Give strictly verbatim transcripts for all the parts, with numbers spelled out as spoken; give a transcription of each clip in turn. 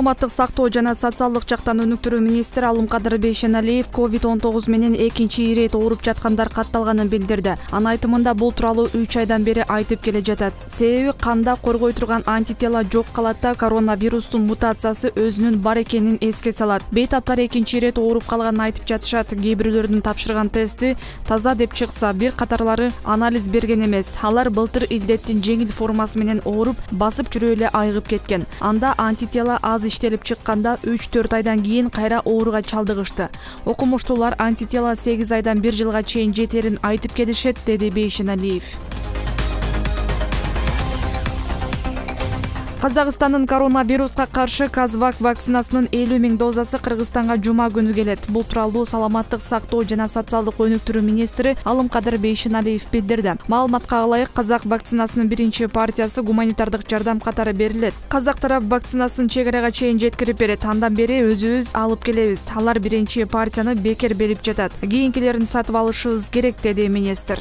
Саламаттык сактоо жана социалдык жактан өнүктүрүү министри Алымкадыр Бейшеналиев ковид он тогуз менен экинчи ирет ооруп жаткандар катталганын билдирди. Анын айтымында бул тууралуу үч айдан бери айтып келе жатат. Себеби канда коргой турган антитела жок калат да коронавирустун мутациясы өзүнүн бар экенин эске салат. Бейтаптар экинчи ирет ооруп калганын айтып жатышат. Кээ бирөөлөрдүн тапшырган тести таза деп чыкса, бир катарлары анализ берген эмес. Алар былтыр илдеттин жеңил формасы менен ооруп, басып жүрүп эле айыгып кеткен. Анда антитела аз иштелип чыкканда үч төрт айдан кийин кайра ооруга чалдыгышты. Окумуштуулар антитела сегиз айдан бир жылга чейин жетерин айтып келишет, деди Бейшеналиев. Казакстандын коронавируска каршы Казвак вакцинасынын элүү миң дозасы Кыргызстанга жума күнү келет. Бул тууралуу Саламаттык сактоо жана социалдык өнүктүрүү министри Алымкадыр Бейшеналиев билдирди. Маалыматка ылайык, Казак вакцинасынын биринчи партиясы гуманитардык жардам катары берилет. Казак тарап вакцинасын чек арага чейин жеткирип берет. Андан бери өзүбүз алып келебиз. Алар биринчи партияны бекер берип жатат. Кийинкилерин сатып алышыбыз керек, деди министр.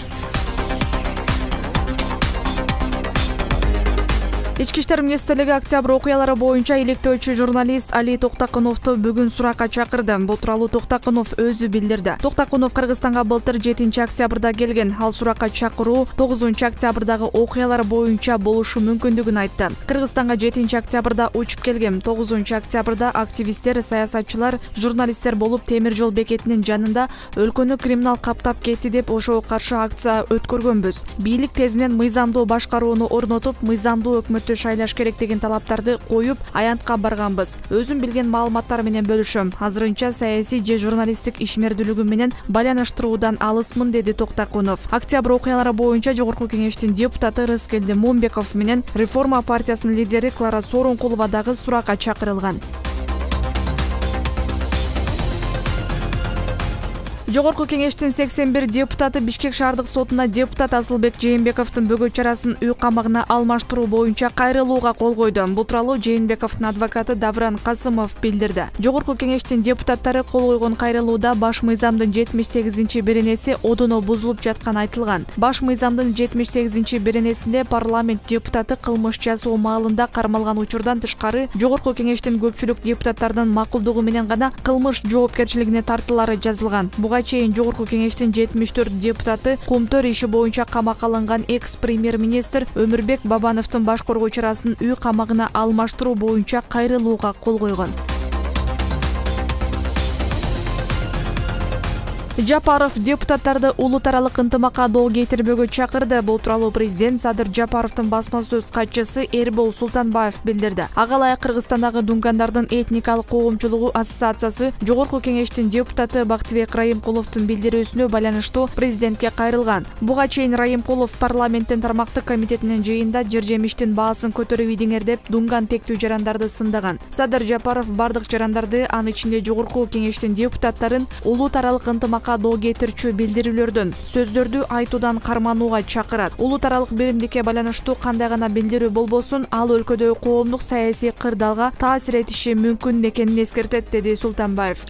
Ички иштер министрлиги октябрь окуялары боюнча иликтөөчү журналист Али Токтакуновду бүгүн суракка чакырды. Бул тууралуу Токтакунов өзү билдирди. Токтакунов Кыргызстанга былтыр жетинчи октябрда келген. Ал суракка чакыруу тогузунчу октябрдагы окуялар боюнча болушу мүмкүндүгүн айтты. Кыргызстанга жетинчи октябрда учуп келгем. тогузунчу октябрда активисттер, саясатчылар, журналисттер болуп темир жол бекетинин жанында өлкөнү криминал каптап кетти деп ошого каршы акция өткөргөнбүз. Бийлик тезинен мыйзамдуу башкарууну орнотуп, мыйзамдуу өкмөт шайлаш керек деген талаптарды коюп, аянтка барганбыз. Өзүм билген маалыматтар менен бөлүшөм. Азырынча саясий же журналисттик ишмердүүлүгүм менен байланыштыруудан алысмын, деди Токтакунов. Октябрь окуялары боюнча Жогорку кеңештин депутаты Рыскелди Мумбеков менен Реформа партиясынын лидери Клара Сооронкулова дагы суракка чакырылган. Жогорку кеңештин сексен бир депутаты Бишкек шаардык сотуна депутат Асылбек Жээнбековдун бөгөт чарасын үй камагына алмаштыруу боюнча кайрылууга кол койду. Бул тууралуу Жээнбековдун адвокаты Давран Касымов билдирди. Жогорку кеңештин депутаттары кол койгон кайрылууда баш мыйзамдын жетимиш сегизинчи беренеси одоно бузулуп жатканы айтылган. Баш мыйзамдын жетимиш сегизинчи беренесинде парламент депутаты кылмыш жасоо маалында кармалган учурдан тышкары Жогорку кеңештин көпчүлүк депутаттардын макулдугу менен гана кылмыш жоопкерчилигине тартылары жазылган. Буга чейин Жогорку кеңештин жетимиш төрт депутаты Кумтөр иши боюнча камакка алынган экс-премьер-министр Өмүрбек Бабановдун баш коргоо чарасын үй камагына алмаштыруу боюнча кайрылууга кол койгон. Жапаров депутаттарды улут аралык ынтымакка доо кетирбөөгө чакырды. Бул тууралуу президент Садыр Жапаровдун басма сөз катчысы Эрбол Султанбаев билдирди. Ага ылайык Кыргызстандагы дунгандардын этникалык коомчулугу ассоциациясы Жогорку кеңештин депутаты Бактыбек Райымкуловдун билдирүүсүнө байланыштуу президентке кайрылган. Буга чейин Райымкулов парламенттин тармактык комитетинин жыйынында жер жемиштин баасын көтөрүп идиңер деп дунган тектүү жарандарды сындаган. Садыр Жапаров бардык жарандарды, анын ичинде Жогорку кеңештин депутаттарын улут аралык ынтымакка доо кетирчү билдирүүлөрдөн, сөздөрдү айтуудан карманууга чакырат. Улут аралык биримдикке байланыштуу кандай гана билдирүү болбосун, ал өлкөдөгү коомдук саясий кырдаалга таасир этиши мүмкүн экенин эскертет, деди Султанбаев.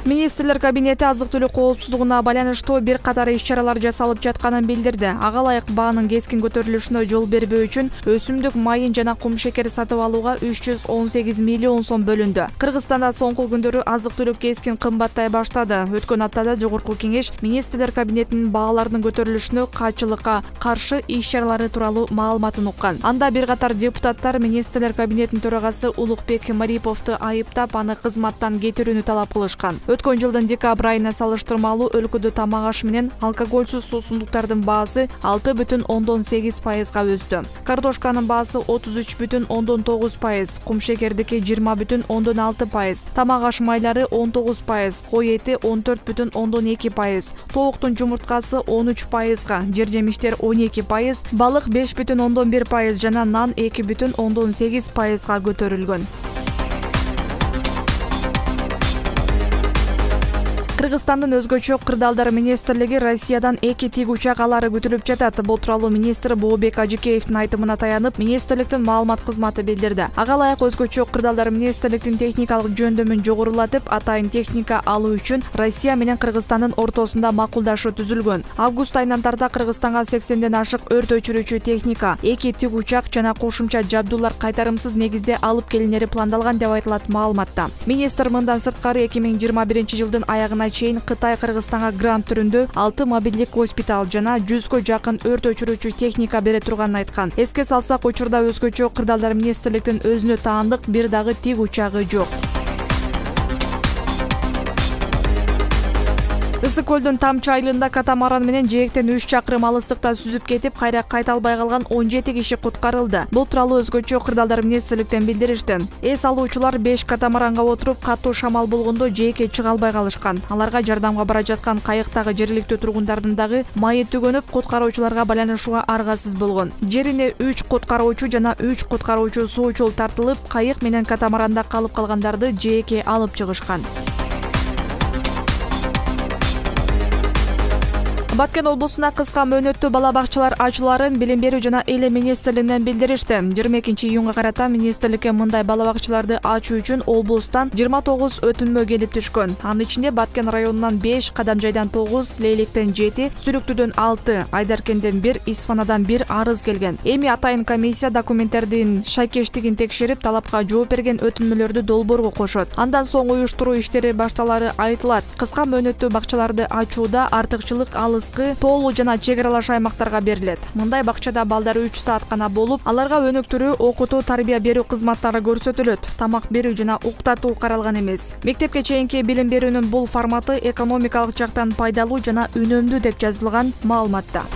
Министрлер кабинети азык-түлүк коопсуздугуна байланыштуу бир катар иш-чаралар жасалып жатканын билдирди. Ага ылайык баанын кескин көтөрүлүшүнө жол бербөө үчүн өсүмдүк майын жана кум шекер сатып алууга үч жүз он сегиз миллион сом бөлүндү. Кыргызстанда соңку күндөрү азык-түлүк кескин кымбаттай баштады. Өткөн аптада Жогорку кеңеш Министрлер кабинетинин баалардын көтөрүлүшүнө кайчылыкка каршы иш-чаралары тууралуу маалыматын уккан. Анда бир катар депутаттар Министрлер кабинетинин төрагасы Улукбек Мариповду айыптап, аны кызматтан кетирүүнү талап кылышкан. Өткөн жылдын декабрь айына салыштырмалуу өлкөдө тамак аш менен алкогольсуз суусундуктардын баасы алты бүтүн ондон сегиз пайызга өстү. Картошканын баасы отуз үч бүтүн ондон тогуз пайыз, кум шекердики жыйырма бүтүн ондон алты пайыз, тамак аш майлары он тогуз пайыз, кой эти он төрт бүтүн ондон эки пайыз, тооктун жумурткасы он үч пайызга, жер жемиштер он эки пайыз, балык беш бүтүн ондон бир пайыз жана нан эки бүтүн ондон сегиз пайызга көтөрүлгөн. Кыргызстандын өзгөчө кырдаалдар министрлиги Россиядан эки тик учак алары күтүлүп жатат. Бул тууралуу министр Бообек Ажыкеевдин айтымына таянып, министрликтин маалымат кызматы билдирди. Ага ылайык өзгөчө кырдаалдар министрликтин техникалык жөндөмүн жогорулатып, атайын техника алуу үчүн Россия менен Кыргызстандын ортосунда макулдашуу түзүлгөн. Август айынан тарта Кыргызстанга сексенден ашык өрт өчүрүүчү техника, эки тик учак жана кошумча жабдуулар кайтарымсыз негизде алып келинери пландалган деп айтылат маалыматта. Министр мындан сырткары эки миң жыйырма биринчи жылдын аягына чейин Кытай Кыргызстанга грант түрүндө алты мобилдик госпиталь жана жүзгө жакын өрт өчүрүүчү техника бере турганын айткан. Эске салсак, учурда өзгөчө кырдаалдар министрликтин өзүнө таандык бир дагы тик учагы жок. Ысык көлдүн Тамчы айылында катамаран менен жээктен үч чакырым алыстыкта сүзүп кетип, кайра кайта албай калган он жети киши куткарылды. Бул тууралуу өзгөчө кырдаалдар министрликтен билдиришти. Эс алуучулар беш катамаранга отуруп, катуу шамал болгондо жээкке чыга албай калышкан. Аларга жардамга бара жаткан кайыктагы жергиликтүү тургундардын дагы майы түгөнүп, куткаруучуларга байланышууга аргасыз болгон. Жерине үч куткаруучу жана үч куткаруучу суучул тартылып, кайык менен катамаранда калып калгандарды жээкке алып чыгышкан. Баткен облусуна кыска мөөнөттүү бала бакчалар ачууларын билим берүү жана эйле министрлигинен билдиришти. жыйырма экинчи июнга карата министрликке мындай бала бакчаларды ачуу үчүн облустан жыйырма тогуз өтүнмө келип түшкөн. Анын ичинде Баткен районунан беш, Кадамжайдан тогуз, Лейлектен жети, Сүрүктүүдөн алты, Айдаркенден бир, Исфанадан бир арыз келген. Эми атайын комиссия документтердин шайкештигин текшерип, талапка жооп берген өтүнмөлөрдү долбоорго кошот. Андан соң уюштуруу иштери башталары айтылат. Кыска мөөнөттүү бакчаларды ачууда артыкчылык алыс тоолуу жана чек аралаш аймактарга берилет. Мындай бакчада балдар үч саат гана болуп, аларга өнүктүрүү, окутуу, тарбия берүү кызматтары көрсөтүлөт. Тамак берүү жана уктатуу каралган эмес. Мектепке чейинки билим берүүнүн бул форматы экономикалык жактан пайдалуу жана үнөмдүү деп жазылган маалыматта.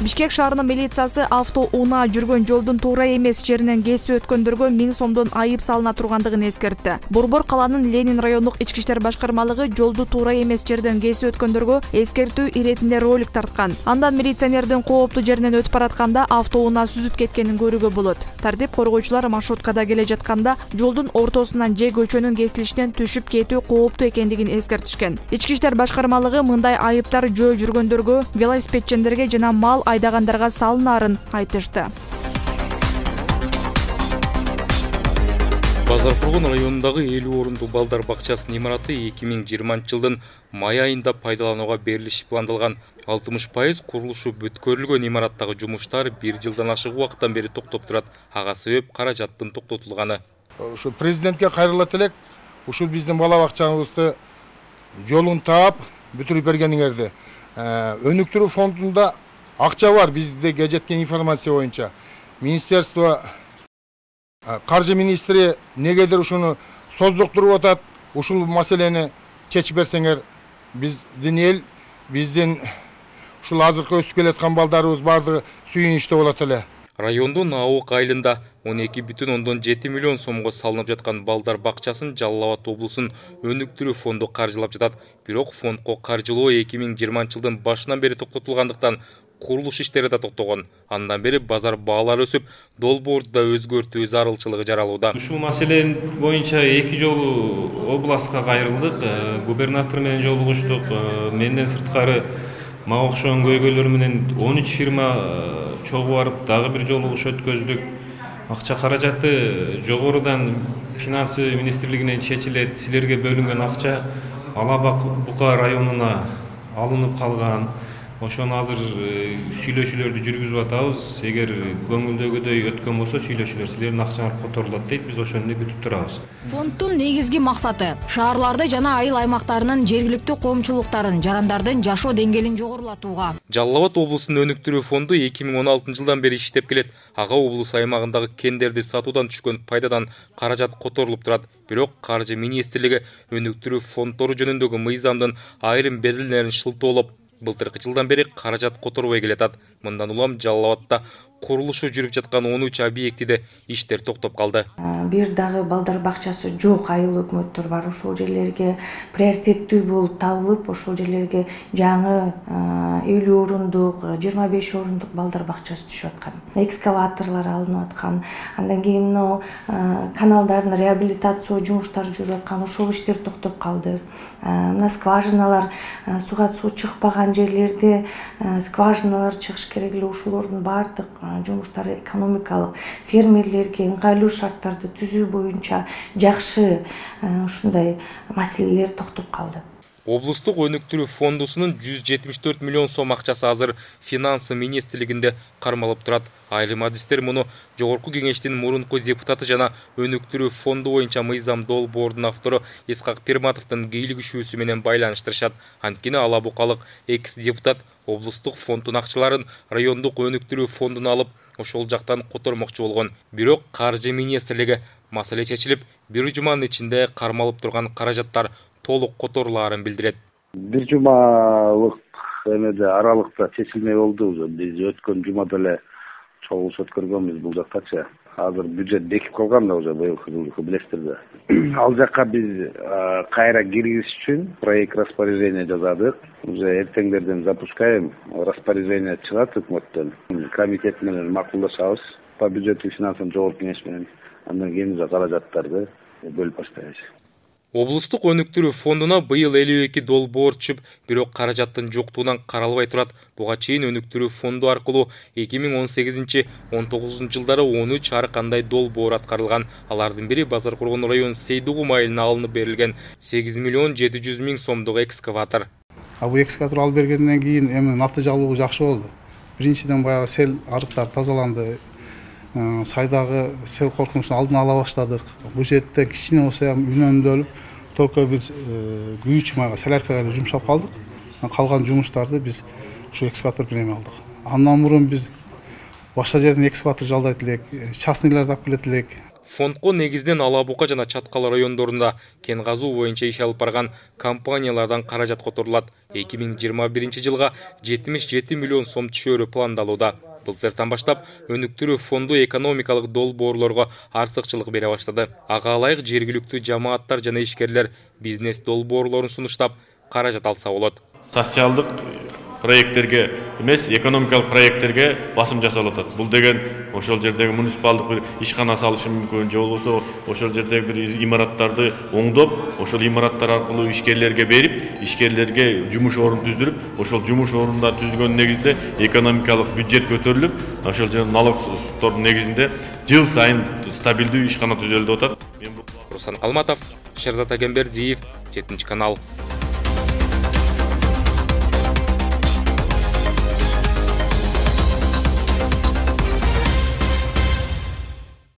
Бишкек шаарынын милициясы авто унаа жүргөн жолдун туура эмес жеринен кесип өткөндөргө миң сомдон айып салына тургандыгын эскертти. Борбор каланын Ленин райондук ички иштер башкармалыгы жолду туура эмес жерден кесип өткөндөргө эскертүү иретинде ролик тарткан. Андан милиционердин кооптуу жеринен өтүп баратканда авто унаа сүзүп кеткенин көрүүгө болот. Тартип коргоочулар маршруткада келе жатканда жолдун ортосунан же көчөнүн кесилишинен түшүп кетүү кооптуу экендигин эскертишкен. Ички иштер башкармалыгы мындай айыптар жөө жүргөндөргө, велосипедчендерге жана мал айдагандарга салынаарын айтышты. Базаркургун районундагы элүү орундуу балдар бакчасынын имараты эки миң жыйырманчы жылдын май айында пайдаланууга берилиши пландалган. алтымыш пайыз курулушу бүткөрүлгөн имараттагы жумуштар бир жылдан ашык убакыттан бери токтоп турат. Ага себеп каражаттын токтотулганы. Ушу президентке кайрылат элек, ушул биздин бала бакчабызды жолун таап бүтүрүп бергениңерди. Өнүктүрүү фондунда акча бар, бизде жеткен информация боюнча. Министерство, каржы министри негедир ушуну создуктуруп атат. Ушул маселени чечип берсеңер, биздин эл, биздин ушул азыркы өсүп келаткан балдарыбыз бардыгы сүйүнүчтүү болот эле. Райондун Аок айылында он эки бүтүн ондон жети миллион сомго салынып жаткан балдар бакчасын Жалал Абад облусунун өнүктүрүү фонду каржылап жатат. Бирок фондко каржылоо эки миң жыйырманчы жылдын башынан бери токтотулгандыктан курулуш иштери да токтогон. Андан бери базар баалары өсүп, долбоорду да өзгөртүү зарылчылыгы жаралууда. Ушул маселе боюнча эки жолу областка кайрылдык, губернатор менен жолугуштук. Менден сырткары мага окшогон көйгөйлөр менен он үч фирма чогуу барып, дагы бир жолугуш өткөздүк. Акча каражаты жогорудан финансы министрлигинен чечилет. Силерге бөлүнгөн акча Алабак Бука районуна алынып калган. Ошону азыр сүйлөшүүлөрдү жүргүзүп атабыз. Эгер көңүлдөгүдөй өткөн болсо сүйлөшүүлөр силердин акчаңар которулат дейт. Биз ошону күтүп турабыз. Фонддун негизги максаты шаарларды жана айыл аймактарынын жергиликтүү коомчулуктарын, жарандардын жашоо деңгээлин жогорулатууга. Жалал Абад облусунун өнүктүрүү фонду эки миң он алтынчы жылдан бери иштеп келет. Ага облус аймагындагы кендерди сатуудан түшкөн пайдадан каражат которулуп турат. Бирок каржы министрлиги өнүктүрүү фонддору жөнүндөгү мыйзамдын айрым берилмелерин шылтоолоп, былтыркы жылдан бери каражат которбой келатат. Мындан улам Жалал Абадда курулушу жүрүп жаткан он үч объектиде иштер токтоп калды. Бир дагы балдар бакчасы жок айыл өкмөттөр бар. Ошол жерлерге приоритеттүү болуп табылып, ошол жерлерге жаңы элүү орундук, жыйырма беш орундук балдар бакчасы түшүп аткан. Экскаваторлор алынып аткан. Андан кийин мына каналдардын реабилитация жумуштары жүрүп аткан. Ошол иштер токтоп калды. Мына скважиналар, суга суу чыкпаган жерлерде скважиналар чыгыш керек эле. Ошолордун баардык жумуштары экономикалык фермерлерге ыңгайлуу шарттарды түзүү боюнча жакшы ушундай маселелер токтоп калды. Облустук өнүктүрүү фондусунун жүз жетимиш төрт миллион сом акчасы азыр финансы министрлигинде кармалып турат. Айрым адистер муну Жогорку кеңештин мурунку депутаты жана өнүктүрүү фонду боюнча мыйзам долбоордун автору Исхак Пирматовдун кийлигишүүсү менен байланыштырышат. Анткени ала букалык экс-депутат облустук фонддун акчаларын райондук өнүктүрүү фондуна алып, ошол жактан котормокчу болгон. Бирок каржы министрлиги маселе чечилип, бир жуманын ичинде кармалып турган каражаттар толук которулаарын билдирет. Бир жумалык эмеде аралыкта чечилмей болду. Биз өткөн жумада эле чогулуш өткөргөнбүз бул жактачы. Азыр бюджет бекип калган да уже быйылкы жылкы билесиздер да. Ал жакка биз кайра киргизиш үчүн проект распоряжение жаздык. Уже эртеңдерден запускаем. Распоряжение чыгат өкмөттөн. Комитет менен макулдашабыз. По бюджету финансовый жогорку кеңеш менен андан кийин каражаттарды бөлүп баштайбыз. Облустук өнүктүрүү фондуна быйыл элүү эки долбоор түшүп, бирок каражаттын жоктугунан каралбай турат. Буга чейин өнүктүрүү фонду аркылуу эки миң он сегизинчи — он тогузунчу жылдары он үч ар кандай долбоор аткарылган. Алардын бири Базаркургон район Сейдугум айылына алынып берилген сегиз миллион жети жүз миң сомдук экскаватор. А бул экскаватор алып бергенден кийин эми натыйжалуулугу жакшы болду. Биринчиден баягы сел арыктар тазаланды. Сайдагы сел коркунучун алдын ала баштадык. Бул жерден кичине болсо ham үнөмдөлүп, только биз күйүүчү майга соляркага эле жумшап калдык. Калган жумуштарды биз ушу экскаватор менен алдык. Андан мурун биз башка жерден экскаватор жалдайт элек, частныйларды алып келет элек. Фондко негизден Ала Бука жана Чаткал райондорунда кен казуу боюнча иш алып барган компаниялардан каражат которулат. эки миң жыйырма биринчи жылга жетимиш жети миллион сом түшөөрү пландалууда. Былтыртан баштап өнүктүрүү фонду экономикалык долбоорлорго артыкчылык бере баштады. Ага ылайык жергиликтүү жамааттар жана ишкерлер бизнес долбоорлорун сунуштап каражат алса болот. Социалдык проекттерге эмес, экономикалык проекттерге басым жасалып атат. Бул деген ошол жердеги муниципалдык бир ишкана салышы мүмкүн, же болбосо ошол жердеги бир имараттарды оңдоп, ошол имараттар аркылуу ишкерлерге берип, ишкерлерге жумуш орун түздүрүп, ошол жумуш орунда түзүлгөн негизинде экономикалык бюджет көтөрүлүп, ошол жерден налогтордун негизинде жыл сайын стабилдүү ишкана түзөлүп атат. Руслан Алматов, Шерзат Агембердиев, жетинчи канал.